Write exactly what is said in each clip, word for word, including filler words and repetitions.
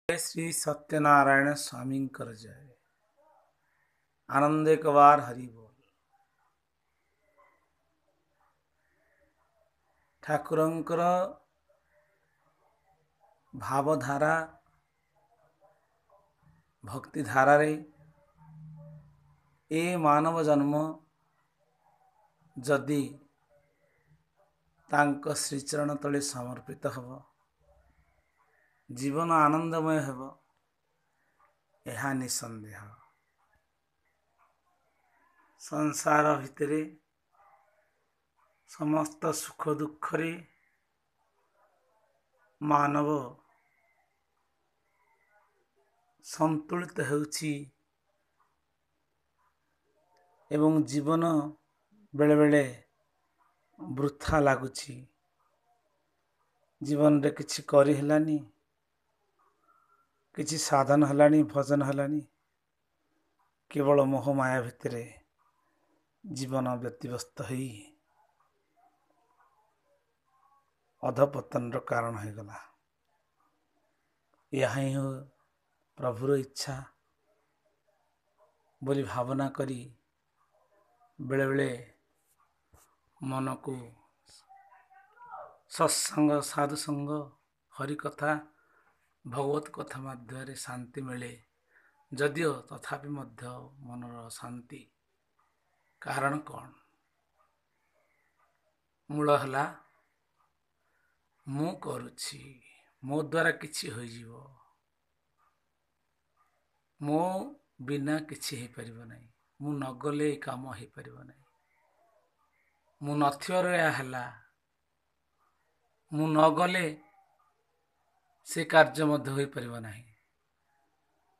ଶ୍ରୀ ସତ୍ୟନାରାୟଣ ସ୍ୱାମୀଙ୍କର ଜୟ। ଆନନ୍ଦ ଏକବାର ହରି ବୋଲ। ଠାକୁରଙ୍କର ଭାବଧାରା ଭକ୍ତିଧାରାରେ ଏ ମାନବ ଜନ୍ମ ଯଦି ତାଙ୍କ ଶ୍ରୀଚରଣ ତଳେ ସମର୍ପିତ ହେବ, ଜୀବନ ଆନନ୍ଦମୟ ହେବ, ଏହା ନିଃସନ୍ଦେହ। ସଂସାର ଭିତରେ ସମସ୍ତ ସୁଖ ଦୁଃଖରେ ମାନବ ସନ୍ତୁଳିତ ହେଉଛି ଏବଂ ଜୀବନ ବେଳେବେଳେ ବୃଥା ଲାଗୁଛି। ଜୀବନରେ କିଛି କରିହେଲାନି, କିଛି ସାଧନ ହେଲାନି, ଭଜନ ହେଲାନି, କେବଳ ମୋହମାୟା ଭିତରେ ଜୀବନ ବ୍ୟତିବ୍ୟସ୍ତ ହେଇ ଅଧପତନର କାରଣ ହୋଇଗଲା। ଏହା ହିଁ ପ୍ରଭୁର ଇଚ୍ଛା ବୋଲି ଭାବନା କରି ବେଳେବେଳେ ମନକୁ ସତ୍ସଙ୍ଗ, ସାଧୁସଙ୍ଗ, ହରିକଥା, ଭଗବତ କଥା ମାଧ୍ୟମରେ ଶାନ୍ତି ମିଳେ। ଯଦିଓ ତଥାପି ମଧ୍ୟ ମନର ଶାନ୍ତି କାରଣ କ'ଣ? ମୂଳ ହେଲା ମୁଁ କରୁଛି, ମୋ ଦ୍ୱାରା କିଛି ହୋଇଯିବ, ମୋ ବିନା କିଛି ହେଇପାରିବ ନାହିଁ, ମୁଁ ନଗଲେ ଏ କାମ ହେଇପାରିବ ନାହିଁ, ମୁଁ ନଥିବାରୁ ଏହା ହେଲା, ମୁଁ ନଗଲେ ସେ କାର୍ଯ୍ୟ ମଧ୍ୟ ହୋଇପାରିବ ନାହିଁ।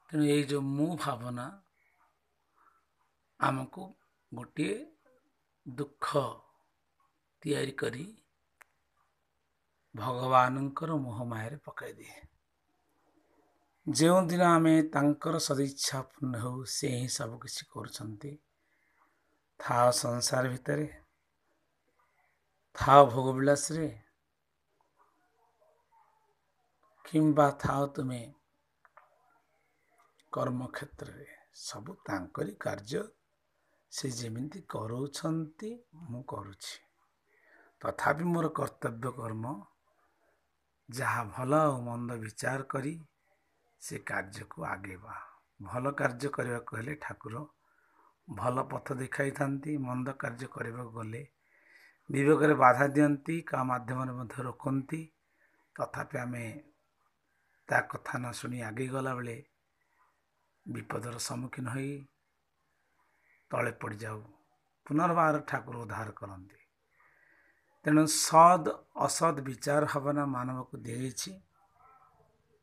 ତେଣୁ ଏଇ ଯେଉଁ ମୁଁ ଭାବନା ଆମକୁ ଗୋଟିଏ ଦୁଃଖ ତିଆରି କରି ଭଗବାନଙ୍କର ମୋହମାୟାରେ ପକାଇଦିଏ। ଯେଉଁଦିନ ଆମେ ତାଙ୍କର ସଦିଚ୍ଛା ପୂର୍ଣ୍ଣ ହେଉ, ସେ ହିଁ ସବୁକିଛି କରୁଛନ୍ତି। ଥାଅ ସଂସାର ଭିତରେ, ଥାଅ ଭୋଗବିଳାସରେ, କିମ୍ବା ଥାଅ ତୁମେ କର୍ମକ୍ଷେତ୍ରରେ, ସବୁ ତାଙ୍କରି କାର୍ଯ୍ୟ। ସେ ଯେମିତି କରାଉଛନ୍ତି ମୁଁ କରୁଛି, ତଥାପି ମୋର କର୍ତ୍ତବ୍ୟ କର୍ମ ଯାହା ଭଲ ଆଉ ମନ୍ଦ ବିଚାର କରି ସେ କାର୍ଯ୍ୟକୁ ଆଗେଇବା। ଭଲ କାର୍ଯ୍ୟ କରିବାକୁ ହେଲେ ଠାକୁର ଭଲ ପଥ ଦେଖାଇଥାନ୍ତି, ମନ୍ଦ କାର୍ଯ୍ୟ କରିବାକୁ ଗଲେ ବିବେକରେ ବାଧା ଦିଅନ୍ତି, କାହା ମାଧ୍ୟମରେ ମଧ୍ୟ ରୋକନ୍ତି। ତଥାପି ଆମେ ତା କଥା ନ ଶୁଣି ଆଗେଇ ଗଲାବେଳେ ବିପଦର ସମ୍ମୁଖୀନ ହୋଇ ତଳେ ପଡ଼ିଯାଉ, ପୁନର୍ବାର ଠାକୁର ଉଦ୍ଧାର କରନ୍ତି। ତେଣୁ ସଦ୍ ଅସଦ୍ ବିଚାର ଭାବନା ମାନବକୁ ଦିଆଯାଇଛି।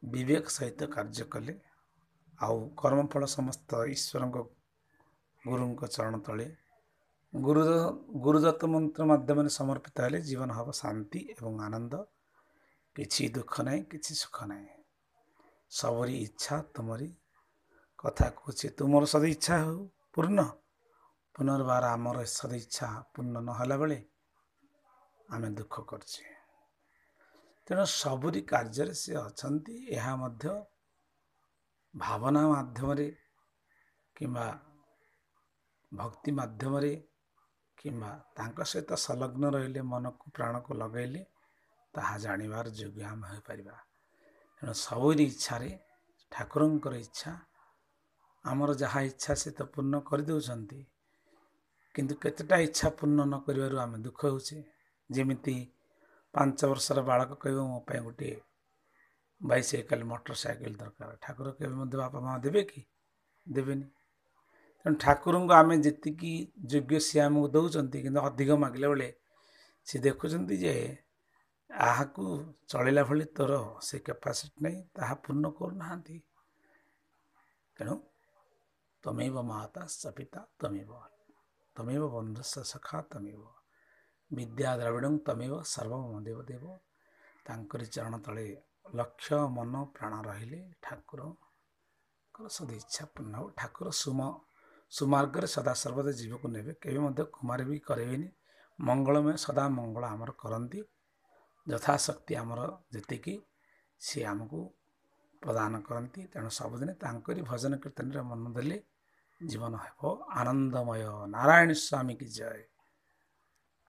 ବିବେକ ସହିତ କାର୍ଯ୍ୟ କଲେ ଆଉ କର୍ମଫଳ ସମସ୍ତ ଈଶ୍ୱରଙ୍କ ଗୁରୁଙ୍କ ଚରଣ ତଳେ ଗୁରୁ ଗୁରୁଦତ୍ତ ମନ୍ତ୍ର ମାଧ୍ୟମରେ ସମର୍ପିତ ହେଲେ ଜୀବନ ହେବ ଶାନ୍ତି ଏବଂ ଆନନ୍ଦ। କିଛି ଦୁଃଖ ନାହିଁ, କିଛି ସୁଖ ନାହିଁ। ସବୁରି ଇଚ୍ଛା ତୁମରି କଥା କହୁଛି, ତୁମର ସଦିଚ୍ଛା ହେଉ ପୂର୍ଣ୍ଣ। ପୁନର୍ବାର ଆମର ସଦିଚ୍ଛା ପୂର୍ଣ୍ଣ ନହେଲା ବେଳେ ଆମେ ଦୁଃଖ କରୁଛେ। ତେଣୁ ସବୁରି କାର୍ଯ୍ୟରେ ସେ ଅଛନ୍ତି। ଏହା ମଧ୍ୟ ଭାବନା ମାଧ୍ୟମରେ କିମ୍ବା ଭକ୍ତି ମାଧ୍ୟମରେ କିମ୍ବା ତାଙ୍କ ସହିତ ସଂଲଗ୍ନ ରହିଲେ, ମନକୁ ପ୍ରାଣକୁ ଲଗାଇଲେ ତାହା ଜାଣିବାର ଯୋଗ୍ୟ ଆମେ ହୋଇପାରିବା। ତେଣୁ ସବୁରି ଇଚ୍ଛାରେ ଠାକୁରଙ୍କର ଇଚ୍ଛା, ଆମର ଯାହା ଇଚ୍ଛା ସେ ତ ପୂର୍ଣ୍ଣ କରିଦେଉଛନ୍ତି, କିନ୍ତୁ କେତେଟା ଇଚ୍ଛା ପୂର୍ଣ୍ଣ ନ କରିବାରୁ ଆମେ ଦୁଃଖ ହେଉଛେ। ଯେମିତି ପାଞ୍ଚ ବର୍ଷର ବାଳକ କହିବ ମୋ ପାଇଁ ଗୋଟିଏ ବାଇସାଇକେଲ, ମୋଟର ସାଇକେଲ ଦରକାର, ଠାକୁର କେବେ ମଧ୍ୟ ବାପା ମା' ଦେବେ କି? ଦେବେନି। ତେଣୁ ଠାକୁରଙ୍କୁ ଆମେ ଯେତିକି ଯୋଗ୍ୟ ସିଏ ଆମକୁ ଦେଉଛନ୍ତି, କିନ୍ତୁ ଅଧିକ ମାଗିଲା ବେଳେ ସେ ଦେଖୁଛନ୍ତି ଯେ ଏହାକୁ ଚଳିଲା ଭଳି ତୋର ସେ କାପାସିଟି ନାହିଁ, ତାହା ପୂର୍ଣ୍ଣ କରୁନାହାନ୍ତି। ତେଣୁ ତମେବ ମାତା ପିତା ତମେବ, ତମେବ ବନ୍ଧୁସ୍ୟ ସଖା ତମେବ, ବିଦ୍ୟା ଦ୍ରାବିଡ଼ଂ ତମେବ ସର୍ବମ ଦେବ ଦେବ। ତାଙ୍କରି ଚରଣ ତଳେ ଲକ୍ଷ୍ୟ ମନ ପ୍ରାଣ ରହିଲେ ଠାକୁରଙ୍କର ସଦିଚ୍ଛା ପୂର୍ଣ୍ଣ ହେବ। ଠାକୁର ସୁମ ସୁମାର୍ଗରେ ସଦା ସର୍ବଦା ଜୀବକୁ ନେବେ, କେବେ ମଧ୍ୟ କୁମାର ବି କରାଇବେନି। ମଙ୍ଗଳମୟ ସଦା ମଙ୍ଗଳ ଆମର କରନ୍ତି। ଯଥାଶକ୍ତି ଆମର ଯେତିକି ସିଏ ଆମକୁ ପ୍ରଦାନ କରନ୍ତି। ତେଣୁ ସବୁଦିନେ ତାଙ୍କରି ଭଜନ କୀର୍ତ୍ତନରେ ମନ ଦେଲେ ଜୀବନ ହେବ ଆନନ୍ଦମୟ। ନାରାୟଣ ସ୍ୱାମୀ କି ଜୟ।